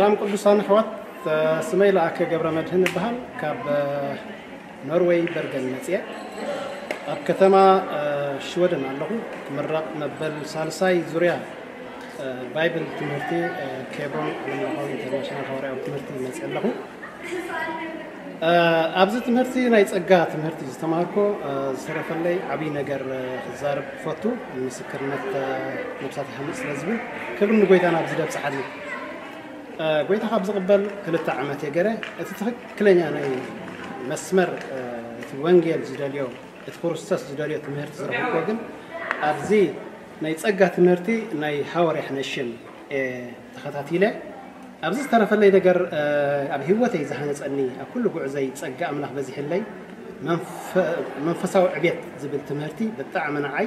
ሰላም ቅዱሳን ኣሕዋት፣ ስመይ ለኣከ ገብረ መድህን እበሃል። ካብ ኖርወይ በርገን መጽየ። ኣብ ከተማ ሽወደን ኣለኹ። ክምረቕ መበል ሳልሳይ ዙርያ ባይብል ትምህርቲ ኬብሮን ዓለምለኻዊ ኢንተርናሽናል ሃዋርያዊ ትምህርቲ መጽየ ኣለኹ። ኣብዚ ትምህርቲ ናይ ጸጋ ትምህርቲ ዝተማሃርኮ ዝተረፈለይ ዓብይ ነገር ክዛረብ ክፈቱ። ምስክርነት ነብሳት ይሃንጽ ስለ ዝብል ክብሪ ንጎይታና ኣብዚ ደብጽሓኒ። ጎይታ ካብ ዝቕበል ክልተ ዓመት የገረ። እቲ ትኽክለኛ ናይ መስመር እቲ ወንጌል ዝደልዮ እቲ ክርስቶስ ዝደልዮ ትምህርቲ ዝረኽብኮ ግን ኣብዚ ናይ ጸጋ ትምህርቲ ናይ ሃዋርያ ሕነሽም ተኸታቲለ። ኣብዚ ዝተረፈለይ ነገር ኣብ ህይወተይ ዝሃነጸኒ ኣብ ኩሉ ጉዕዘይ ጸጋ ኣምላኽ በዚሕለይ። መንፈሳዊ ዕቤት ዝብል ትምህርቲ ብጣዕሚ ንዓይ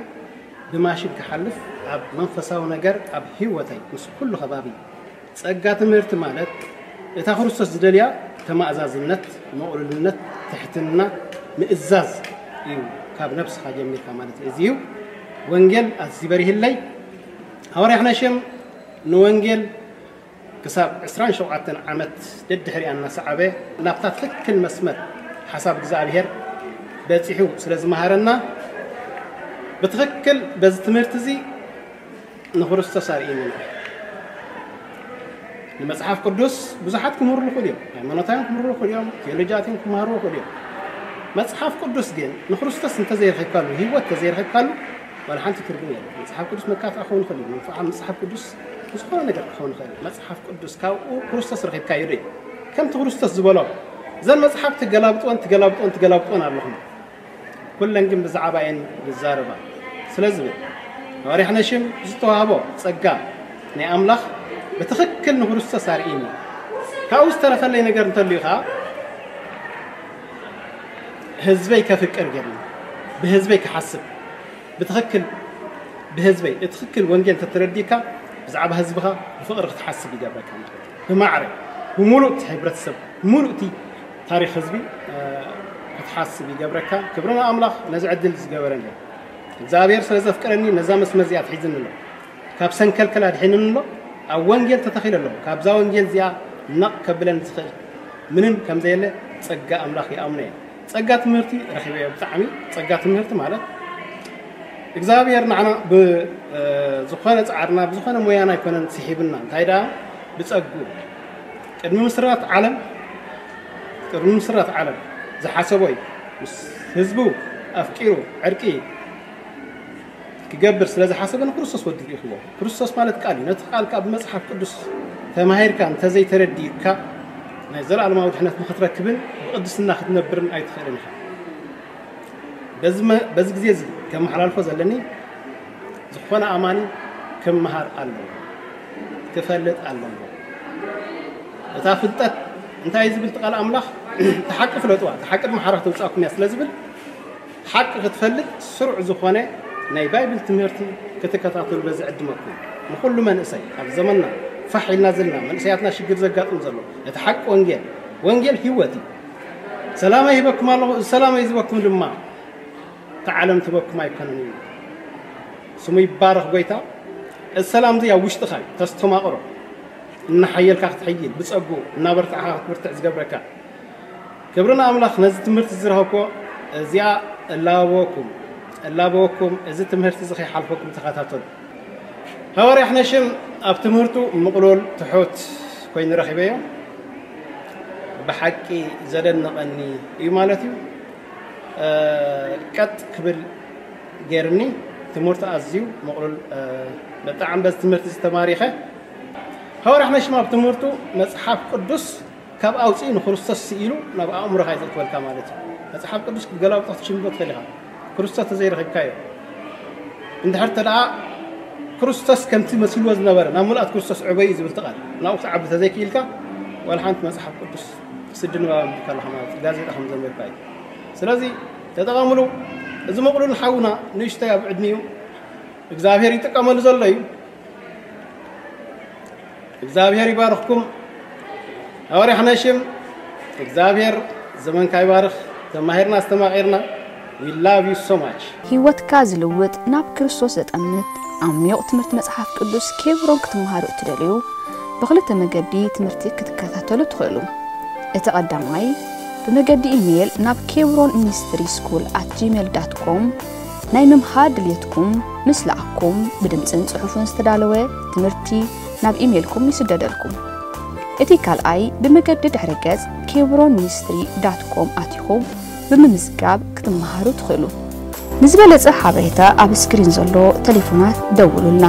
ብማሽን ክሓልፍ ኣብ መንፈሳዊ ነገር ኣብ ህይወተይ ምስ ኩሉ ከባቢ ጸጋ ትምህርቲ ማለት እታ ክርስቶስ ዝደልያ ተማእዛዝነት፣ ምቕሉልነት፣ ትሕትና፣ ምእዛዝ እዩ። ካብ ነብስኻ ጀሚርካ ማለት እዩ። እዚ እዩ ወንጌል ኣዝዩ በሪህለይ። ሃዋርያ ሕነሽም ንወንጌል ክሳብ ዕስራን ሸውዓተን ዓመት ደድሕሪኣ እናሰዓበ ናብታ ትኽክል መስመር ሓሳብ እግዚኣብሔር በጺሑ ስለ ዝመሃረና ብትኽክል በዚ ትምህርቲ እዚ ንክርስቶስ ኣርእይኒ። ንመጽሓፍ ቅዱስ ብዙሓት ክምህሩ ይኽእሉ እዮም። ሃይማኖታውያን ክምህሩ ይኽእሉ እዮም። ቴዎሎጂያት ክመሃሩ ይኽእሉ እዮም። መጽሓፍ ቅዱስ ግን ንክርስቶስ እንተዘይረኺብካሉ፣ ህይወት እንተዘይረኺብካሉ ዋላ ሓንቲ ትርጉም የለን። መጽሓፍ ቅዱስ መካፍኣ ክኸውን ይኽእል እዩ። መንፈዓ መጽሓፍ ቅዱስ ዝኾነ ነገር ክኸውን ይኽእል እዩ። መጽሓፍ ቅዱስ ካብኡ ክርስቶስ ረኺብካዮ ዶ እዩ? ከምቲ ክርስቶስ ዝበሎ እዘን መጽሓፍ ትገላብጥወን ትገላብጥወን ትገላብጥወን ኣለኹም። ኩለን ግን ብዛዕባ እየን ዝዛረባ። ስለዚ ሃዋርያ ሕነሽም ዝተዋህቦ ጸጋ ናይ ኣምላኽ ብትኽክል ንክርስቶስ ኣርእይኒ። ካብኡ ዝተረፈለይ ነገር እንተልዩ ኸዓ ህዝበይ ከፍቅር ገይርኒ፣ ብህዝበይ ክሓስብ ብትኽክል ብህዝበይ እቲ ትኽክል ወንጌል እንተተረዲእካ ብዛዕባ ህዝብኻ ብፍቕሪ ክትሓስብ ይገብረካ ማለት እዩ። ብማዕረ ብሙሉእ እቲ ሕብረተሰብ ብሙሉእ እቲ ታሪኽ ህዝቢ ክትሓስብ ይገብረካ። ክብሪ ንኣምላኽ ነዚ ዕድል ዝገበረኒ እግዚኣብሔር ስለ ዘፍቀረኒ ነዛ መስመር እዚኣ ኣትሒዝኒ ኣሎ። ካብ ሰንከልከል ኣድሒንኒ ኣሎ። ኣብ ወንጌል ተተኺለ ኣለኹ። ካብዛ ወንጌል እዚኣ ነቕ ከብለኒ ዝኽእል ምንም ከም ዘየለ ጸጋ ኣምላኽ ይኣምኖ እየ። ጸጋ ትምህርቲ ረኺበዮ። ብጣዕሚ ጸጋ ትምህርቲ ማለት እግዚኣብሔር ንዓና ብዝኾነ ጻዕርና ብዝኾነ ሞያና ኣይኮነን ስሒብና። እንታይ ደኣ ብጸጉ ቅድሚ ምስራት ዓለም ቅድሚ ምስራት ዓለም ዝሓሰቦ እዩ። ምስ ህዝቡ ኣፍቂሩ ዕርቂ ክገብር ስለ ዝሓሰበ ንክርስቶስ ወዱ ልኢኽዎ። ክርስቶስ ማለት ቃል እዩ። ነቲ ቃል ካብ መጽሓፍ ቅዱስ ተማሂርካ እንተዘይተረዲእካ ናይ ዘለኣለማዊ ድሕነት ንክትረክብን ብቅድስና ክትነብርን ኣይትኽእልን ኢኻ። በዚ ግዜ እዚ ከመሓላልፎ ዘለኒ ዝኾነ ኣማኒ ክምሃር ኣለዎ፣ ክፈልጥ ኣለዎ። እታ ፍልጠት እንታይ ዝብል ቃል ኣምላኽ ተሓቂ ፍለጥዋ ተሓቂ ድማ ሓራ ተውፃእኩም እያ ስለ ዝብል ሓቂ ክትፈልጥ ስሩዕ ዝኾነ ናይ ባይብል ትምህርቲ ክትከታተሉ በዚ ዕድመኩም ንኩሉ መንእሰይ ኣብ ዘመንና ፋሕ ኢልና ዘለና መንእሰያትና ሽግር ዘጋጥም ዘሎ እቲ ሓቂ ወንጌል ወንጌል ህይወት እዩ። ሰላም ይህበኩም ኣለኹ። እዚ ሰላም ዝህበኩም ድማ እቲ ዓለም ትበኩም ኣይኮነን እዩ። ስሙ ይባረኽ ጎይታ። እዚ ሰላም እዚ ኣብ ውሽጥኻ እዩ ተስተማቕሮ እናሓየልካ ክትሕይል ብፀጉ እናበርታዕካ ክትብርትዕ ዝገብረካ። ክብሪ ንኣምላኽ ነዚ ትምህርቲ ዝረኸብኮ እዚኣ እላበወኩም እላበወኩም እዚ ትምህርቲ እዚ ከይሓልፈኩም ተኸታተሉ። ሃዋርያ ሕነሽም ኣብ ትምህርቱ ምቕሉል ትሑት ኮይኑ ረኺበዮ። ብሓቂ ዘደንቐኒ እዩ ማለት እዩ። ቀጥ ክብል ገይርኒ ትምህርቱ ኣዝዩ ምቕሉል። ብጣዕሚ በዚ ትምህርቲ ዝተማሪኸ ሃዋርያ ሕነሽም ኣብ ትምህርቱ መፅሓፍ ቅዱስ ካብ ኣውፅኡ ንክርስቶስ ስኢሉ ናብ ኣእምሮኻ እዩ ዘእትወልካ ማለት እዩ። መፅሓፍ ቅዱስ ክትገላብጦ ክትሽምዶ ትኽእል ኢኻ። ክርስቶስ ተዘይረኺብካዮ እንድሕር ተደኣ ክርስቶስ ከምቲ መሲልዎ ዝነበረ ናብ ምልኣት ክርስቶስ ዕበዩ ዝብል ትቓል ናብኡ ክትዓቢ ተዘይክኢልካ ዋላ ሓንቲ መፅሓፍ ቅዱስ ስዲ ንባብ ኣንቢብካ ኣለኻ ማለት እዩ። ጋዜጣ ከም ዘንበብካ እዩ። ስለዚ ተጠቐምሉ። እዚ መቕሉል ሓውና ንእሽተይ ኣብ ዕድሚኡ እግዚኣብሔር ይጥቀመሉ ዘሎ እዩ። እግዚኣብሔር ይባርኽኩም። ሃዋርያ ሕነሽም እግዚኣብሔር ዘመንካ ይባርኽ። ተማሂርና ኣስተማቒርና። We love you so much። ህይወትካ ዝልውጥ ናብ ክርስቶስ ዘጠምት ዓሚቕ ትምህርቲ መጽሓፍ ቅዱስ ኬብሮን ክትመሃሩ እትደልዩ ብኽልተ መገዲ ትምህርቲ ክትከታተሉ ትኽእሉ። እቲ ቀዳማይ ብመገዲ ኢሜይል ናብ ኬብሮን ሚኒስትሪ ስኩል ኣት ጂሜል ዳት ኮም ናይ ምምሃር ድልየትኩም ምስ ለኣኩም ብድምፅን ፅሑፍን ዝተዳለወ ትምህርቲ ናብ ኢሜይልኩም ይስደደልኩም። እቲ ካልኣይ ብመገዲ ድሕረ ገፅ ኬብሮን ሚኒስትሪ ዳት ኮም ኣቲኹም ብምምዝጋብ ክትመሃሩ ትኽእሉ። ንዝበለጸ ሓበሬታ ኣብ ስክሪን ዘሎ ቴሌፎናት ደውሉልና።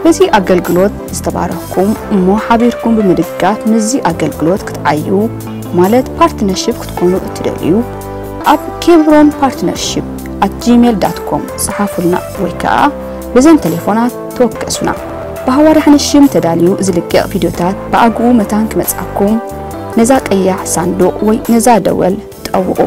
በዚ ኣገልግሎት ዝተባረኽኩም እሞ ሓቢርኩም ብምድጋፍ ምስዚ ኣገልግሎት ክትዓዩ ማለት ፓርትነርሺፕ ክትኮኑ እትደልዩ ኣብ ኬብሮን ፓርትነርሺፕ ኣት ጂሜል ዳት ኮም ጸሓፉልና ወይ ከኣ በዘን ቴሌፎናት ተወከሱና። ብሃዋርያ ሓነሽም ተዳልዩ ዝልቀቕ ቪድዮታት ብኣግኡ መታን ክመጽኣኩም ነዛ ቀያሕ ሳንዱቕ ወይ ነዛ ደወል ጠውቑ።